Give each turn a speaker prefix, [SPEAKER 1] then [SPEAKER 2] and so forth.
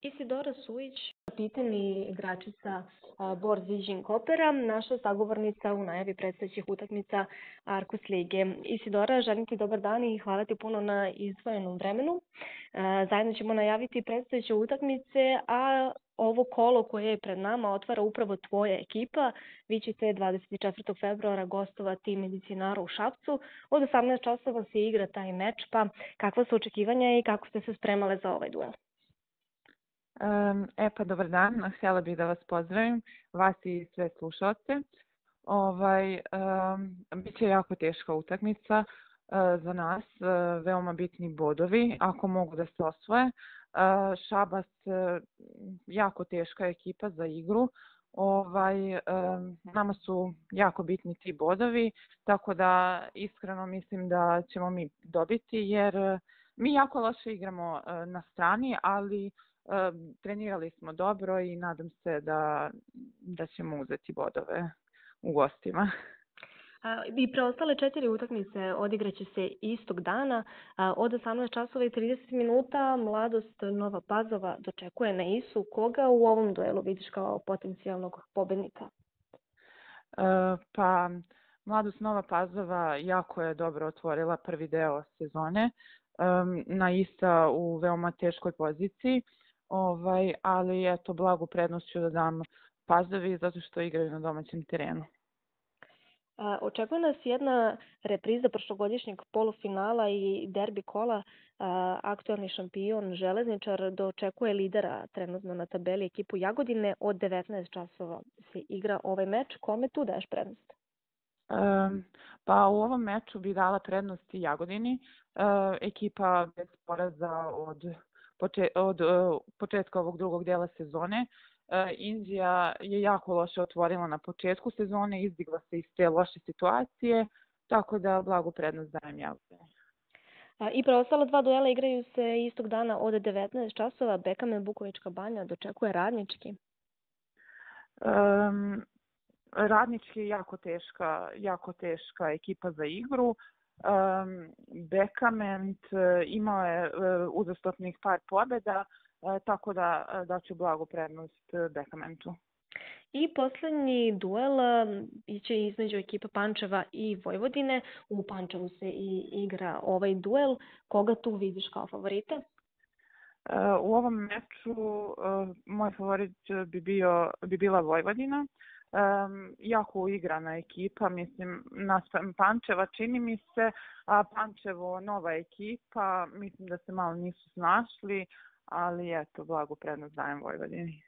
[SPEAKER 1] Isidora Sujić, kapiten igračica Bor Ziđin Kopera, naša sagovornica u najavi predstojećih utakmica Arkus lige. Isidora, želim ti dobar dan i hvala ti puno na izdvojenom vremenu. Zajedno ćemo najaviti predstojeće utakmice, a ovo kolo koje je pred nama otvara upravo tvoja ekipa. Vi ćete 24. februara gostovati Medicinaru u Šapcu. Od 18 časova se igra taj meč, pa kakva su očekivanja i kako ste se spremale za ovaj duel?
[SPEAKER 2] Dobar dan. Htjela bih da vas pozdravim, vas i sve slušalce. Biće jako teška utakmica za nas, veoma bitni bodovi, ako mogu da se osvoje. Šabac, jako teška ekipa za igru. Nama su jako bitni ti bodovi, tako da iskreno mislim da ćemo mi dobiti, jer mi jako loše igramo na strani, ali trenirali smo dobro i nadam se da ćemo uzeti bodove u gostima.
[SPEAKER 1] I preostale 4 utakmice odigraće se istog dana. Od 18 časova i 30 minuta Mladost Nova Pazova dočekuje na Isu. Koga u ovom duelu vidiš kao potencijalnog pobednika?
[SPEAKER 2] Mladost Nova Pazova jako je dobro otvorila prvi deo sezone. Na Isa u veoma teškoj poziciji. Ali eto, blagu prednost ću da dam Pazovi zato što igraju na domaćem terenu.
[SPEAKER 1] Očekuje nas jedna repriza prošlogodišnjeg polufinala i derbi kola. Aktualni šampion Železničar dočekuje lidera trenutno na tabeli ekipu Jagodine. Od 19 časova se igra ovaj meč. Kome tu daješ prednost?
[SPEAKER 2] U ovom meču bi dala prednost i Jagodini. Ekipa bez poraza od početka ovog drugog dela sezone. Indija je jako loše otvorila na početku sezone, izdigla se iz te loše situacije, tako da blagu prednost dajem Jagodini.
[SPEAKER 1] I preostala 2 duela igraju se istog dana od 19 časova. Bekamen Bukovička Banja dočekuje Radnički.
[SPEAKER 2] Radnički je jako teška ekipa za igru. Bekament imao je uzastopnih par pobjeda, tako da ću blagu prednost Bekamentu.
[SPEAKER 1] I poslednji duel biće između ekipa Pančeva i Vojvodine. U Pančevu se i igra ovaj duel. Koga tu vidiš kao favorita?
[SPEAKER 2] U ovom meču moj favorit bi bila Vojvodina. Jako uigrana ekipa, mislim, naspram Pančeva čini mi se, a Pančevo nova ekipa, mislim da se malo nisu snašli, ali eto, blagu prednost dajem Vojvodini.